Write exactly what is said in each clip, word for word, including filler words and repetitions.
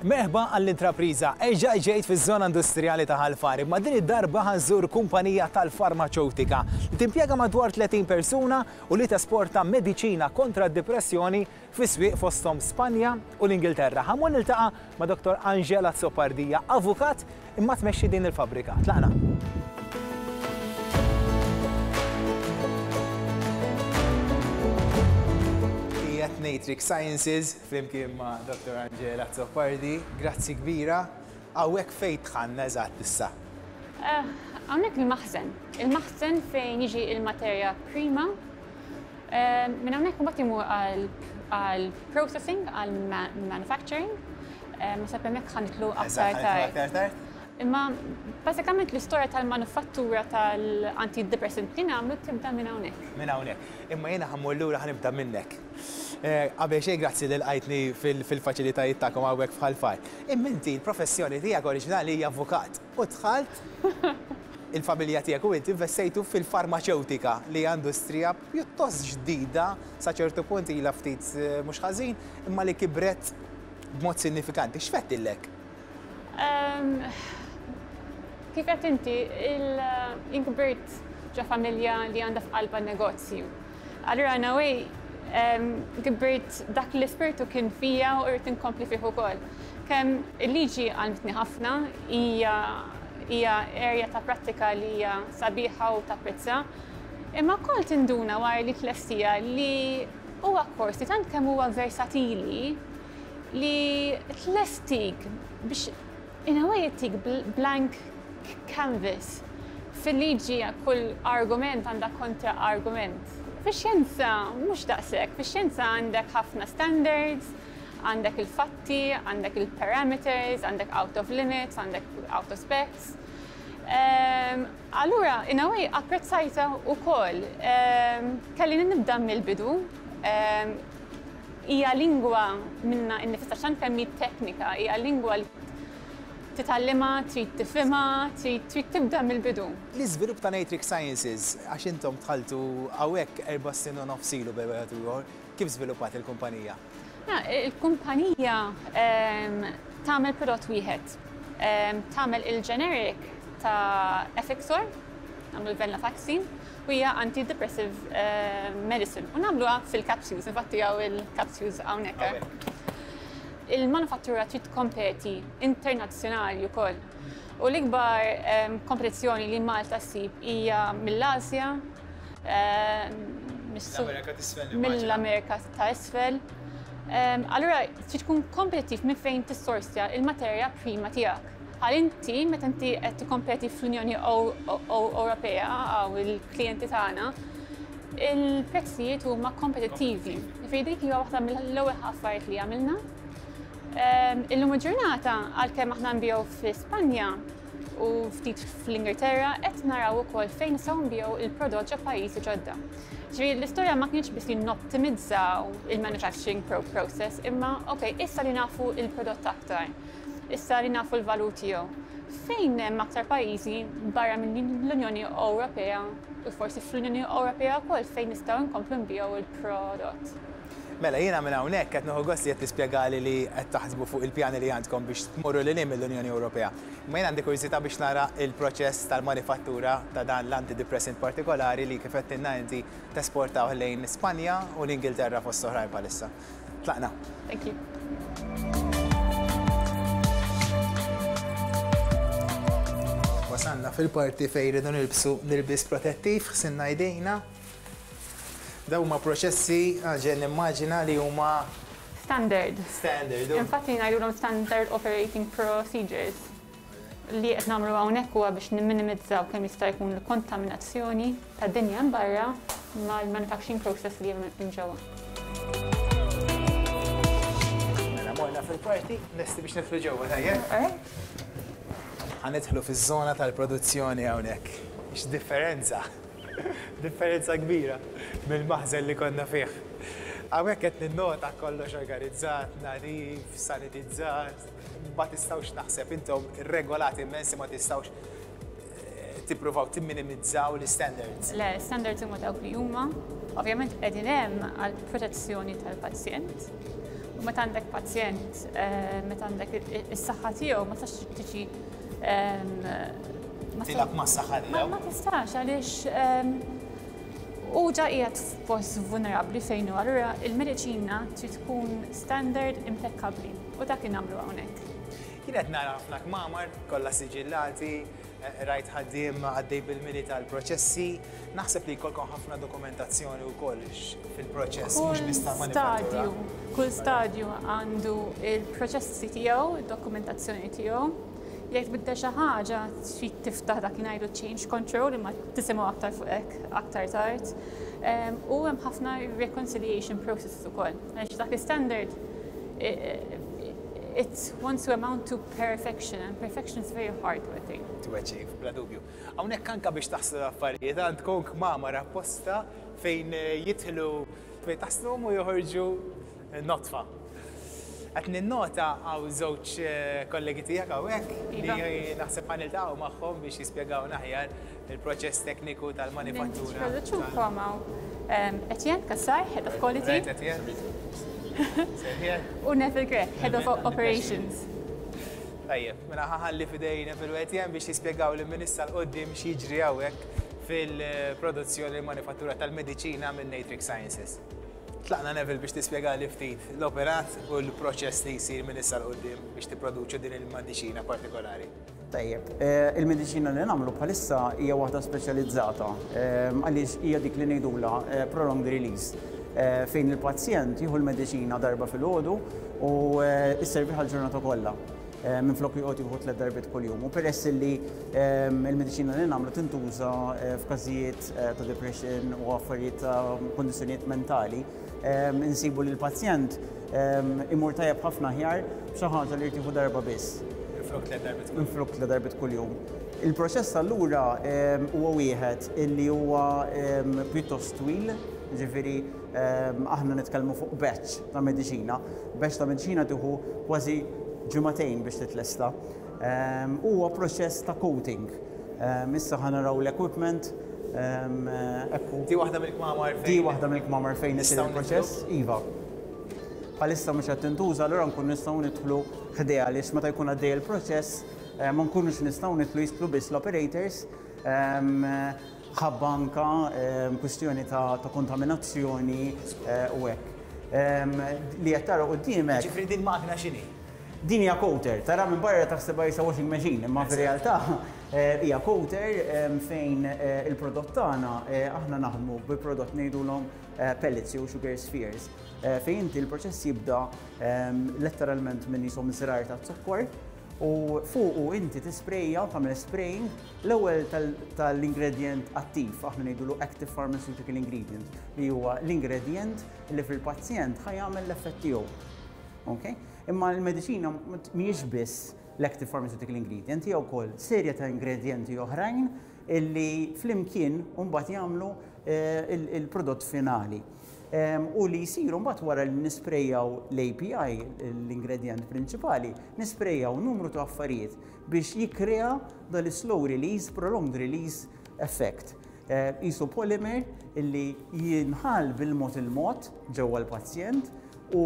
Merħba għall-intrapriża. Erġa' ġejt fiż-żona industrijali ta' Ħal Far, imma din id-darba ħa nżur kumpanija tal-farmaċewtika li timpjega madwar tletin persuna u li tesporta mediċina kontra d-depressjoni fi swieq fosthom Spanja u l-Ingilterra. Ħa mmur niltaqa' ma' Doktor Angela Azzopardi, avukat imma tmexxi din il-fabrika. Tlaqna. Natrix Sciences, flimkien ma' Doktor Angela Azzopardi, grazzi kbira. Hawnhekk fejn dħalna eżatt issa? Eh, hawnhekk il-maħżen. Il-maħżen fejn jiġi il-materja prima. Eh, minn hawnhekk imbagħad imur għal processing, għal manufacturing. Eh, ma sab hemmhekk ħa nidħlu aktar tard. Imma bażikament l-istorja tal-manufattura tal-antidepressant li nagħmlu tibda minn hawnhekk. Minn hawnhekk. Imma jiena ħa mmur lura, ħa nibda minnek. Eh, qabel xejn, grazzi li lqajtni fil-faċilitajiet tagħkom hawnhekk f'Ħal Far. Imma inti l-professjoni tiegħek oriġinali hija avukat u dħalt il-familja tiegħek u inti investejtu fil-farmaċewtika, li hija industrija pjuttost ġdida sa ċertu punt, ilha ftit eh, mhux ħażin, imma li kibret b'mod sinifikanti. X'fettillek? Ehm, kif qed inti, jien kbirt ġo familja li għandha f'qalba negozju. Allura in a way kbirt, dak l-ispirtu kien fija u rrid inkompli fih ukoll. Kemm il-liġi għallmitni ħafna, hija hija area ta' prattika li hija sabiħa u tapprezza. Imma wkoll tinduna wara li tlestija li huwa kors li tant kemm huwa versatili li tlestik biex in a way ittik blank canvas. Fil-liġi kull argument għandha kontra argument. Fix-xjenza mhux daqshekk, fix-xjenza għandek ħafna standards, għandek il-fatti, għandek il-parameters, għandek out of limits, għandek out of specs. Um, allura, in a way, apprezzajta wkoll. Um, kelli nibda mill-bidu. Um, hija lingwa minnha nnifisha, xan kemm teknika, hija lingwa li titgħallimha, trid tifhimha, trid trid tibda mill-bidu. L-iżvilupp ta' Natrix Sciences, għax intom dħaltu hawnhekk erba' snin u nofs ilu bejn wieħed u ieħor, kif żviluppat il-kumpanija? Il-kumpanija tagħmel prodott wieħed. Tagħmel il-generic ta' Effexor, nagħmlu l-venlafaxine, u hija antidepressive medicine. U nagħmluha fil-capsules, infatti hawn il-capsules hawnhekk. Il-manufattura trid tkompeti internazzjonali wkoll. U l-ikbar kompetizzjoni li Malta ssib hija mill-Asja, mill-Amerika ta' isfel. Allura trid tkun kompetittiv minn fejn tissorsja il-materja prima tiegħek. Għal inti, meta inti qed tikkompeti fl-Unjoni Ewropea għaw il-klijenti tagħna, il-prezzijiet huma kompetittivi. Ġifieri dik hija waħda mill-ewwel affarijiet li għamilna. Illum il-ġurnata, għalkemm aħna nbigħu fi Spanja u ftit fl-Ingilterra, qed naraw ukoll fejn nistgħu nbigħu il-prodott ġo pajjiżi ġodda. Ġifieri l-istorja ma kienx biss li nottimizzaw il-manufacturing process, imma ok, issa li nafu il-prodott aktar, issa li nafu l-valur tiegħu. Fejn hemm aktar pajjiżi barra minn l-Unjoni Ewropea u forsi fl-Unjoni Ewropea wkoll fejn nistgħu nkomplu nbigħu il-prodott? Mela, jiena minn hawnhekk qed nieħu gost li qed tispjegali li qed taħsbu fuq il-pjani li għandkom biex tmorru lil mill-Unjoni Ewropea. Imma jien għandi kurżità biex nara il-proċess tal-manifattura ta' dan l-antidepressant partikolari li kif qed inti tesportaw lejn Spanja u l-Ingilterra fost oħrajn bħalissa. Tlaqna. Thank you. Wasalna fil-parti fejn rridu nilbsu nilbis protettiv, ħsilna jdejna. Dawn huma proċessi, ġen nimmaġina li huma Standard. Standard. Infatti ngħidulhom standard operating procedures. Li qed nagħmlu hawnhekk huwa biex nimminimizzaw kemm jista' jkun l-kontaminazzjoni tad-dinja barra mal-manufacturing process li hemm ġewwa. Mela morna fil-parti, lesti biex nidħlu ġewwa, tajjeb? Ħa nidħlu fiż-żona tal-produzzjoni hawnhekk. X'differenza! Differenza kbira mill-maħżen li konna fih. Hawnhekk qed ninnota kollox organizzat, nadif, sanitizzat, ma tistgħux, naħseb intom regolati immensi, ma tistgħux eh, tippruvaw timminimizzaw l-standards. Le, standards huma dawk li huma. Ovvjament qegħdin hemm għal protezzjoni tal-pazjent. U meta għandek pazjent, eh, meta għandek is-saħħa tiegħu, ma tistax tiġi ehm, ma Tilgħab mas-saħħa Ma tiegħu. ma tistax għaliex ehm, u ġa qiegħed f'post vulnerabbli fejn hu, allura il-mediċina trid tkun standard impeccabli u dak nagħmlu hawnhekk. Kienet nara ħafna kmamar, kollha siġillati, eh, rajt ħaddiem għaddej bil-mili tal-proċessi. Naħseb li jkollkom ħafna dokumentazzjoni wkoll fil-proċess, mhux Kull biss tal-manifattura. stadju, kull stadju għandu il-proċessi tiegħu, id-dokumentazzjoni tiegħu. Jekk tbiddel xi ħaġa trid tiftaħ dak li ngħidu change control, imma tisimgħu aktar fuq hekk aktar tard. Em, U hemm ħafna reconciliation processes ukoll. Għaliex dak l-standard it wants to amount to perfection, and perfection is very hard to attain. To achieve, bla dubju. Hawnhekk anka biex taħslu l-affarijiet, għandkom kmamar apposta fejn eh, jidħlu, fejn taħsluhom u joħorġu eh, nodfa. Qed ninnota hawn żewġ eh, kollegi tiegħek hawnhekk li Iva. naħseb ħa niltaqgħu magħhom biex jispjegawna aħjar il-proċess tekniku tal-manifattura. Nintroduċukom hawn um, Etienne Kassar, Head of Quality, Right, Etienne? Sejħien? u Neville Grech, Head of Operations. Tajjeb, mela ħa nħalli f'idejn Neville u Etienne biex jispjegaw li minn issa 'l quddiem x'jiġri hawnhekk fil-produzzjoni u manifattura tal-mediċina minn Natrix Sciences. Tlaqna, Neville, biex tispjega li ftit l-operat u l-proċess li jsir minn issa 'l quddiem biex tipproduċu din il-mediċina partikolari. Tajjeb, eh, il-mediċina li nagħmlu bħalissa hija waħda speċjalizzata eh, għaliex hija dik li ngħidulha eh, prolonged release, eh, fejn il-pazjent jieħu l-mediċina darba filgħodu u eh, isservi għal-ġurnata kollha. Eh, Minflok joqgħod jieħu tliet darbiet kuljum. U peress li eh, il-mediċina li nagħmlu tintuża eh, f'każijiet eh, ta' depression u affarijiet ta' kondizzjonijiet mentali, eh, insibu li l-pazjent eh, imur tajjeb ħafna aħjar b'xi ħaġa li jieħu darba biss Minflok tliet darbiet kuljum. Minflok tliet darbiet kuljum. Il-proċess allura em, huwa wieħed illi huwa em, pjuttost twil, ġifieri em, aħna nitkellmu fuq batch ta' mediċina. Batch ta' mediċina tieħu kważi ġimagħtejn biex titlesta. Em, Huwa proċess ta' coating. Em, Issa ħa naraw l-equipment, em, ekku. Di waħda mill-kmamar fejn. Di waħda mill-kmamar fejn isir Nistgħu il-proċess. Iva. Bħalissa mhux qed tintuża, allura nkun nistgħu nidħlu ħdejha għaliex meta jkun għaddej il-proċess eh, ma nkunux nistgħu nidħlu, jidħlu biss l-operators em, ħabba anka em, kwistjoni ta' ta' kontaminazzjoni eh, u hekk. Em, Li qed tara quddiemek Ġifieri din magna x'inhi? Din hija coater, tara minn barra taħsebha qisha washing machine, imma fir-realtà eh, hija coater em, fejn eh, il-prodott tagħna, eh, aħna naħdmu bi prodott ngħidulhom eh, pellets jew sugar spheres, eh, fejn inti l-proċess jibda em, letteralment minn jisom żrar ta' zokkor u fuqu inti tisprejja, tagħmel spraying l-ewwel tal- tal-ingredient attiv, aħna ngħidulu active pharmaceutical ingredient, li huwa l-ingredient li fil-pazjent ħa jagħmel l-effett tiegħu. Okay? Imma l-mediċina mhijiex biss l-active pharmaceutical ingredient, hija wkoll serje ta' ingredienti oħrajn illi flimkien mbagħad jagħmlu eh, il- il-prodott finali. Em, U li jisiru mbagħad wara li nisprejjaw l-A P I, l-ingredient prinċipali, nisprejjaw numru ta' affarijiet biex jikkrea dal-slow release, prolonged release effect. Eh, Qisu polymer illi jinħall bil-mod il-mod ġewwa l-pazjent u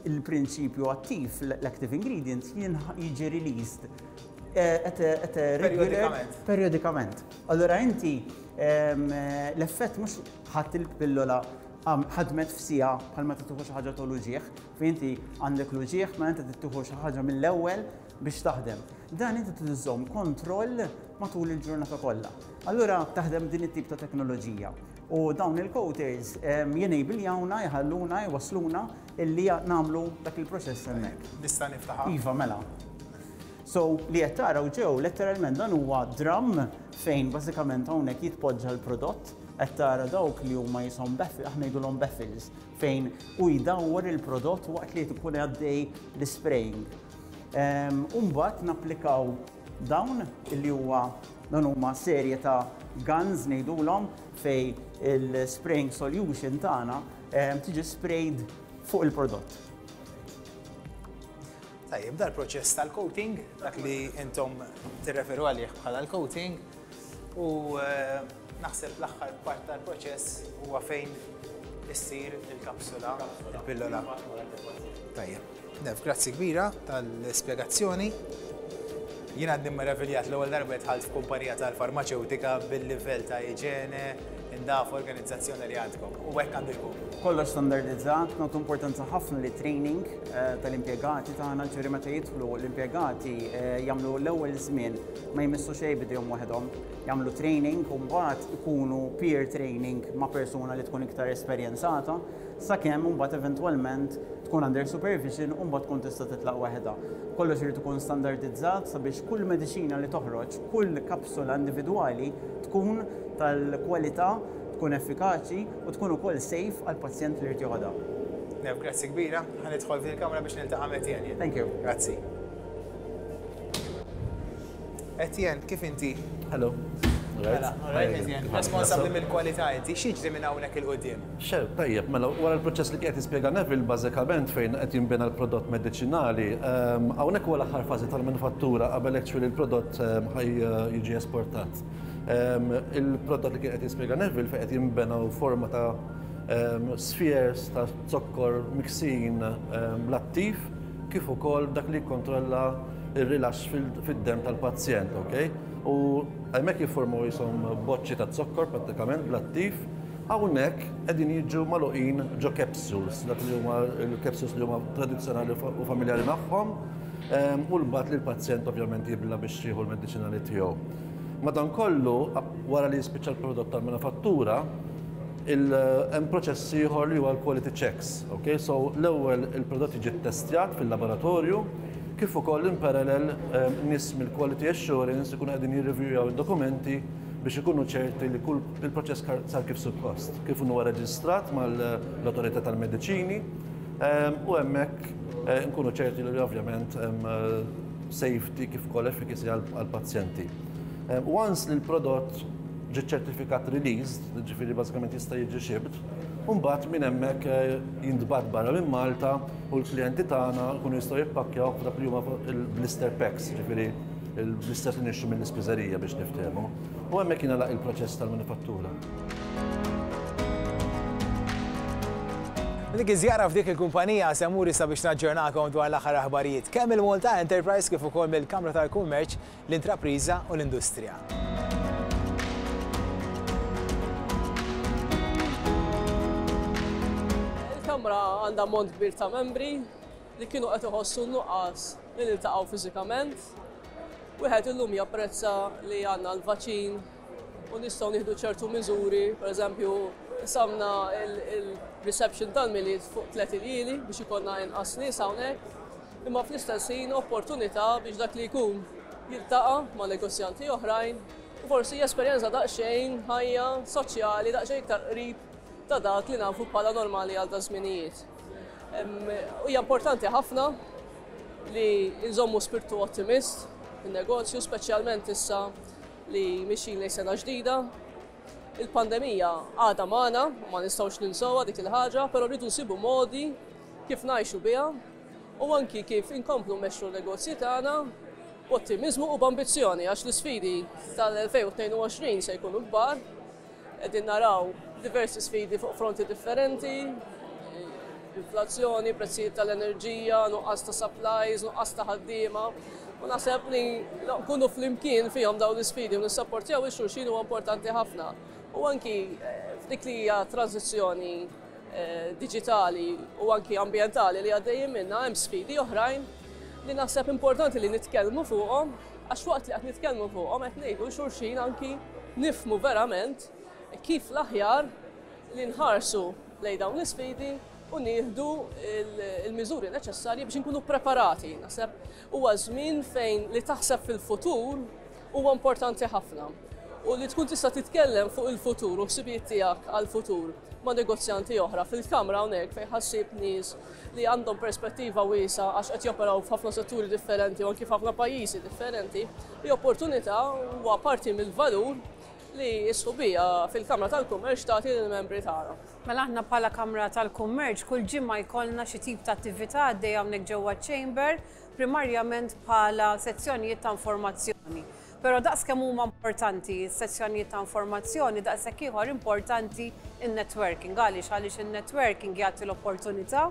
l-prinċipju attiv, l-active ingredient, jinħ- jiġi released eh, at a, at a regular Periodikament. Periodikament. Allora inti em, eh, l-effett mhux ħadd il-pillola għam- ħadmet f'siegħa bħal meta tieħu xi ħaġa tal-uġigħ, fejn inti għandek l-uġigħ ma inti tieħu xi ħaġa mill-ewwel biex taħdem. Dan inti tiżomm kontroll matul il-ġurnata kollha. Allura taħdem din it-tip ta' teknoloġija. U dawn il-coaters jenabeljawna, jħalluna, jwasluna illi nagħmlu dak il-proċess hemmhekk. Nista' niftaħha? Iva, mela. So li qed taraw ġew letteralment dan huwa drum fejn bażikament hawnhekk jitpoġġa l-prodott. Qed tara dawk li huma jisom baffle, aħna ngħidulhom baffles, fejn u jdawwar il-prodott waqt li tkun għaddej l-spraying. U mbagħad napplikaw dawn illi huwa dan huma serje ta' guns ngħidulhom, fej il-spraying solution tagħna em, tiġi sprayed fuq il-prodott. Tajjeb, dal-proċess tal-coating, dak li intom tirreferu għalih bħala l-coating, u eh, naħseb l-aħħar part tal-proċess huwa fejn issir il-kapsula, il-pillola. Tajjeb. Nev, grazzi kbira tal-spjegazzjoni. Jien għadni meraviljat, l-ewwel darba dħalt f'kumpanija tal-farmaċewtika bil-livell ta' iġene, indaf organizzazzjoni li għandkom. U hekk għandu jkun. Kollox standardizzat, nagħtu importanza ħafna li training eh, tal-impjegati tagħna, ġifieri meta jidħlu l-impjegati eh, jagħmlu l-ewwel żmien ma jmissu xejn bidejhom waħedhom, jagħmlu training u mbagħad ikunu peer training ma' persuna li tkun iktar esperjenzata, sakemm mbagħad eventwalment tkun under supervision u mbagħad tkun tista' titlaq waħedha. Kollox irid ikun standardizzat sabiex kull mediċina li toħroġ, kull kapsula individwali tkun tal-kwalità, tkun effikaċi u tkun ukoll safe għall-pazjent li jrid joħodha. Nev, grazzi kbira. Ħa nidħol fil-kamra biex niltaqa' ma' Etienne. Thank you. Grazzi. Etienne, kif inti? Hello. Mela, alright, Etienne. Responsabbli mill-kwalità inti, x'jiġri minn hawnhekk 'il quddiem? Xer, tajjeb, mela, wara l-proċess li qed jispjega Neville, bażikament fejn qed jinbena l-prodott mediċinali, ehm, hawnhekk huwa l-aħħar fażi tal-manifattura qabel actually il-prodott ehm, ħaj eh, jiġi esportat. Ehm, Il-prodott li kien qed jispjega Neville fejn qed jinbena forma ta' ehm, spheres ta' zokkor miksin ehm, l-attiv kif ukoll dak li jikkontrolla il-rilax fid-dem tal-pazjent, ok? U hemmhekk jiffurmaw jisom boċċi ta' zokkor prattikament bl-attiv, hawnhekk qegħdin jiġu magħluqin ġo capsules, dak li huma l-capsules li huma tradizzjonali u familjari magħhom, ehm, u l-bat li l-pazjent ovvjament jibla biex jieħu l-mediċinali tiegħu. Madankollu, wara li jispiċċa l-prodott tal-manifattura, hemm proċess ieħor li huwa l-quality checks. Okay? So l-ewwel il-prodott jiġi ttestjat fil-laboratorju, kif ukoll in parallel nies mill-quality assurance ikunu qegħdin jirreviewjaw id-dokumenti biex ikunu ċerti li kull il-proċess sar kif suppost, kif huwa reġistrat mal-autorità tal-mediċini u hemmhekk eh, nkunu ċerti li ovvjament hemm eh, safety kif ukoll efficacy għall-pazjenti. Once li l-prodott ġi ċertifikat released, ġifieri bażikament jista' jiġi shipped, mbagħad minn hemmhekk eh, jintbagħat barra minn Malta u l-klijenti tagħna jkunu jistgħu jippakkjaw f'dak li huma il-blister packs, ġifieri il-blisters li nixtru mill-ispiżerija biex niftehmu. U hemmhekk jingħalaq il-proċess tal-manifattura. Dik iż-żjara f'dik il-kumpanija se mmur issa biex naġġornakom dwar l-aħħar aħbarijiet kemm il-Malta Enterprise kif ukoll mill-Kamra tal-Kummerċ, l-Intrapriża u l-Industrija. Il-Kamra għandha ammont kbir ta' membri li kienu qed iħossu nuqqas li niltaqgħu fiżikament. Wieħed illum japprezza li għandna l-vaċin u nistgħu nieħdu ċertu miżuri, pereżempju qsamna il-reception tal-Milied fuq tliet iljieli biex ikollna inqas nies hawnhekk, imma fl-istess ħin opportunità biex dak li jkun jiltaqa' ma' negozjanti oħrajn u forsi jesperjenza daqsxejn ħajja soċjali daqsxejn iktar qrib ta' dak li nafu bħala normali għal da żminijiet. Hija importanti ħafna li nżommu spiritu ottimist fin-negozju, speċjalment issa li mixin lejn sena ġdida. Il-pandemija għadha magħna, ma nistgħux ninsewha dik il-ħaġa, però rridu nsibu modi kif ngħixu biha u anki kif inkomplu mmexxu l-negozji tagħna b'ottimizmu u b'ambizzjoni għax l-isfidi tal-elfejn u tnejn u għoxrin se jkunu kbar. Qegħdin naraw diversi sfidi fuq fronti differenti, inflazzjoni, prezzijiet tal-enerġija, nuqqas ta' supplies, nuqqas ta' ħaddiema. U naħseb li nkunu flimkien fihom dawn l-isfidi u nissapportjaw ix-xulxin huwa importanti ħafna. U anki f'dik li hija tranzizzjoni diġitali u anki ambjentali li għaddejjin minnha hemm sfidi oħrajn li naħseb importanti li nitkellmu fuqhom, għax waqt li qed nitkellmu fuqhom qed ngħidu xulxin anki nifhmu verament kif l-aħjar li nħarsu lejn dawn l-isfidi u nieħdu il-miżuri neċessarji biex inkunu preparati. Naħseb huwa żmien fejn li taħseb fil-futur huwa importanti ħafna. U li tkun tista' titkellem fuq il-futur u ħsibijiet tiegħek għall-futur ma' negozjanti oħra fil-kamra hawnhekk fejn ħassib nies li għandhom perspettiva wiesgħa għax qed joperaw f'ħafna setturi differenti u anki f'ħafna pajjiżi differenti, hi opportunità huwa parti mill-valur li s-sħubija fil-Kamra tal-Kummerċ tagħti lill-membri tagħna. Mela aħna bħala Kamra tal-Kummerċ kull ġimgħa jkollna xi tip ta' attività għaddejja hawnhekk ġewwa chamber, primarjament bħala sezzjonijiet ta' informazzjoni. Però daqs kemm huma importanti s-sessjonijiet ta' informazzjoni, daqshekk ieħor importanti in-networking. Għaliex? Għaliex in-networking jagħti l-opportunità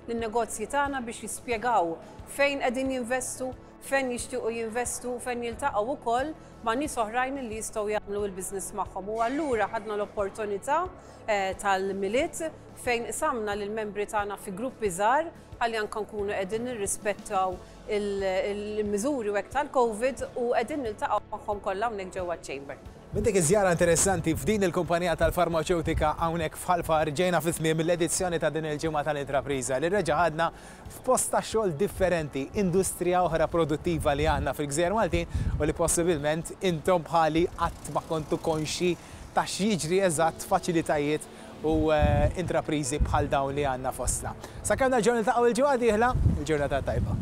lin-negozji tagħna biex jispjegaw fejn qegħdin jinvestu, fejn jixtiequ jinvestu, fejn jiltaqgħu wkoll ma' nies oħrajn li jistgħu jagħmlu l-business magħhom. U allura ħadna l-opportunità eh, tal-Milied fejn qsamna lill-membri tagħna fi gruppi żgħar ħalli anke nkunu qegħdin nirrispettaw il-miżuri u hekk tal-Covid u qegħdin niltaqgħu magħhom kollha hawnhekk ġewwa ċ-Chamber. Minn dik iż-żjara interessanti f'din il-kumpanija tal-farmaċewtika hawnhekk f'Ħal Far, ġejna fi tmiem l-edizzjoni ta' din il-ġimgħa tal-Intrapriża li reġa' ħadna f'post ta' xogħol differenti, industrija oħra produttiva li għandna fil-Gżejjer Maltin u li possibilment intom bħali qatt ma kontu konxi ta' x'jiġri eżatt faċilitajiet u eh, intrapriżi bħal dawn li għandna fostna. Sakemm nerġgħu niltaqgħu il-ġimgħa dieħla, il-ġurnata tajba.